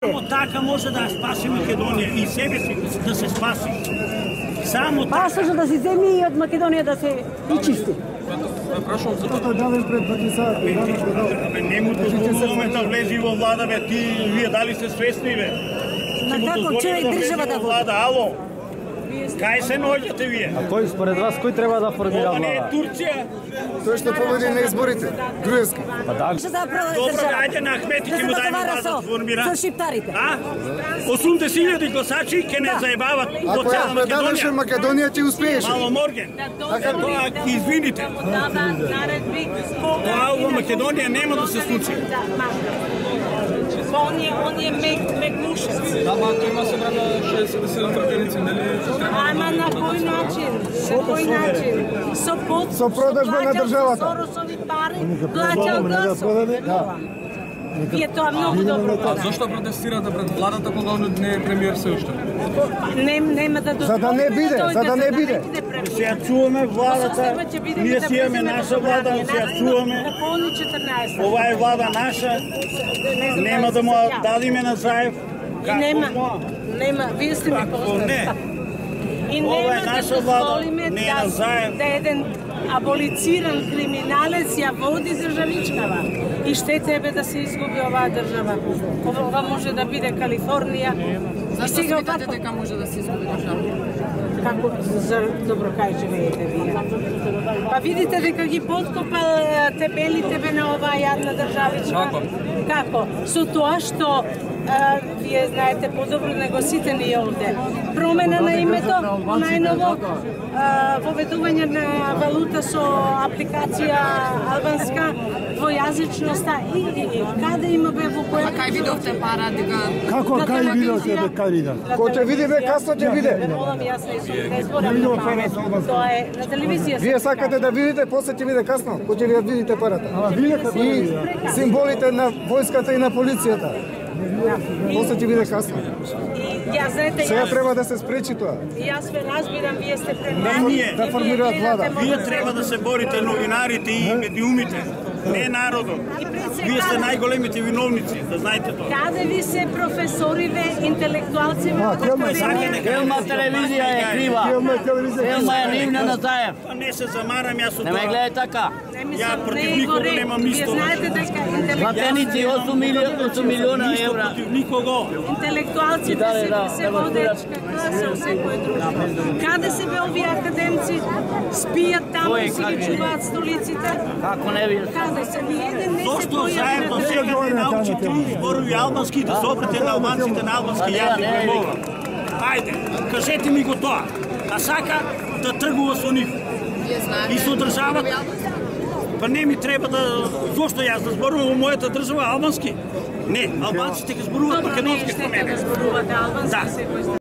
Само така може да спаси Македонија и себе си да се спаси. Само така. Пасажот да се земи и од Македонија да се чисти. Прашувам за тоа давен пред патисата. Не му дозволуваме да влезе во влада, бе, вие дали се свесни, бе? На како човек држава да влада, ало? Кај се наоѓате вие? А кој според вас кој треба да формира Ова не е влада? Турција. Тој што победи на изборите, Груевски. Па да. Добро, ајде на Ахмети ќе му дајме влада да формира. Со шиптарите. 80.000 гласачи ќе не заебават во Ако ја цела предадеше Македонија. Македонија, ти успееше. Мало Морген. Така тоа ќе извините. Тоа во Македонија нема да се случи. Он е мекмушец. Да, ма тој има собрано 67 пратеници, нели? Ама на кој начин? Со кој начин? Со продажба на државата. Со Соросови пари плаќал гласови. И е тоа многу добро. А зошто протестирате пред владата кога он не е премиер се уште? Нема да За да не биде, за да не биде. Се ја чуваме владата, ние си имаме наша влада, се ја чуваме. Ова е влада наша, нема да му дадиме на Заев. Нема, вие сте ми не? И Ова е нема наша да влада, дозволиме не на Заев. да еден аболициран криминалец ја води државичкава. И ще треба да се изгуби оваа држава. Ова може да биде Калифорнија. Зашто смятате дека може да се изгуби држава? Како за добро кај живеете вие? Па видите дека ги подкопал тебелите бе на оваа јадна државичка. Како? Со тоа што вие знаете подобро него сите ние овде. Промена на името, најново воведување на валута со апликација албанска, двојазичноста и каде има бе во која... А кај видовте пара дека... Како кај видовте бе кај вида? Кој ќе види бе касно ќе види. Молам јас не сум не зборам на пара. Тоа е на телевизија. Вие сакате да видите, после ќе види касно, кој ќе ви видите парата. И символите на војската и на полицијата. После ќе биде касно. Ја знаете, Сега треба да се спречи тоа. Јас ве разбирам, вие сте премлади. Да формираат влада. Вие треба да се борите, новинарите и медиумите, не народот. Вие сте најголемите виновници, да знаете тоа. Каде ви се професориве, интелектуалци во Филма телевизија е крива. Филма е нивна на Заев. Не се замарам јас од Не ме тоа. гледај така. Ја против никого немам Вие исто. знаете дека Платеници 8 милиона евра. Против никого. интелектуалците се водечка класа у секој друштво. Каде се бе овие академци? Спијат таму и си ги чуваат столиците? Како не видиш? Каде се ни еден не се Зошто појави заедно на сега не научите зборови албански да се обрате на албанците на албански јазик? Ајде, кажете ми го тоа. А сака да тргува со нив. И со државата. Па не ми треба да... Зошто јас да зборувам во мојата држава албански? Не, албанците ќе зборуваат македонски со мене. Зборувате албански секој